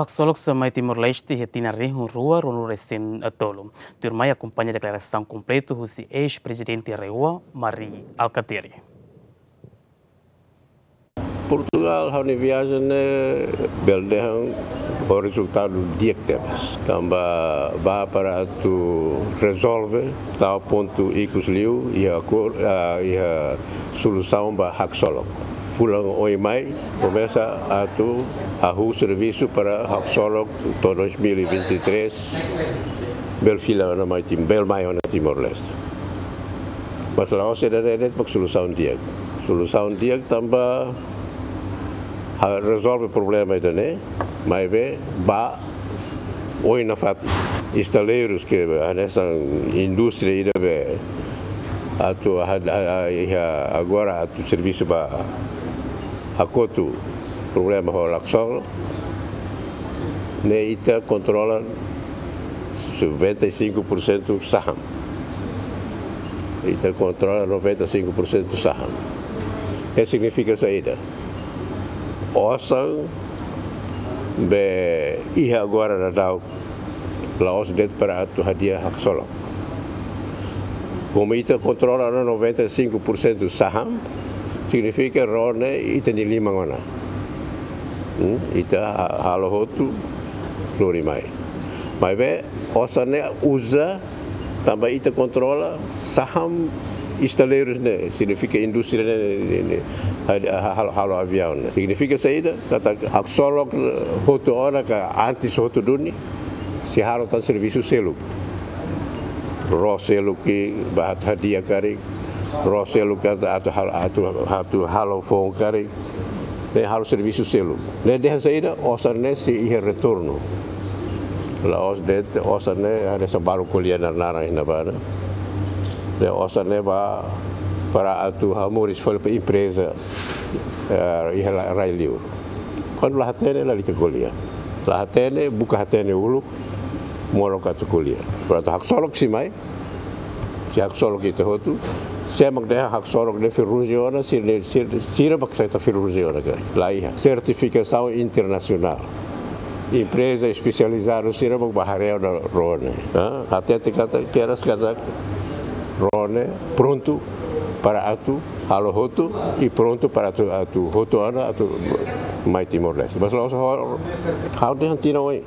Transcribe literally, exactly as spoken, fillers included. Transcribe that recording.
Haksolok sira mai Timor-Leste iha tinan rihun rua ruanulu resin tolu. Tuirmai akompaña deklarasaun kompletu husi eis-prezidente RAEOA, Mari Alkatiri. Portugal, ha'u-nia viajen ne'e bele dehan ho rezultadu di'ak tebes. Tanba bá para atu rezolve, tau pontu ikus liu, iha akor-, ah, iha solusaun ba haksolok. Fulan oin mai, komesa atu hahú servisu para haksolok to'o dois mil e vinte e três, bele fila ona mai Tim-, bele mai ona Timor-Leste. Mas la'ós ida-ne'e de'it mak solusaun di'ak. Solusaun di'ak tanba ha-, rezolve problema ida-ne'e, maibé bá oin nafatin. Estaleirus ke hanesan indústria ida be atu ha-, ha-, ha-, iha agora atu servisu ba hakotu problema ho haksolok, ne'e ita kontrola noventa e cinco por cento saham. Ita kontrola noventa e cinco por cento saham. Ne'e signifika saida? Osan be iha agora daudaun la'ós de'it para atu hadi'a haksolok. Komu ita kontrola ona noventa e cinco por cento saham, signifika ró ne'e ita-nia liman ona. Hmm? Ita ha-, halo hotu, lori mai. Maibé, osan ne'e uza, tanba ita kontrola saham estaleirus ne'e, signifika indústria ne'e, ne'e, ne'e, ha-, ha-, halo, halo aviaun ne'e. Signifika saida? Katak haksolok hotu ona ka antes hotu duni, sei halo tan servisu seluk. Ró seluk ke bá hadi'a karik, ró seluk ke atu, atu hal-, atu, atu halo foun karik, ne'e halo servisu seluk. Ne'e dehan saida, osan ne'e sei iha retornu. La'ós de'it, osan ne'e hanesan balu ko'alia nar-naran iha ne'ebá ne'e. Ne'e osan ne'e bá para atu hamoris fali ba empreza, eh, iha la-, rai liur. Kuandu la hatene, lalika ko'alia. La hatene, buka hatene uluk, molok atu ko'alia. Portantu, haksolok sei mai, sei haksolok ita hotu, sé mak dehan haksolok ne'e ferrugem ona, sira ne'e, sira, sira mak sei ita ferrugem ona karik. La iha. Sertifikasaun internasionál. Empreza espesializadu sira mak bá haree ona ró ne'e. Ha? Hatete katak, keras katak ró ne'e prontu para atu halo hotu i prontu para atu, atu hotu ona atu mai Timor-Leste. Mas la'ós ha'u, ha'u dehan tinan oin.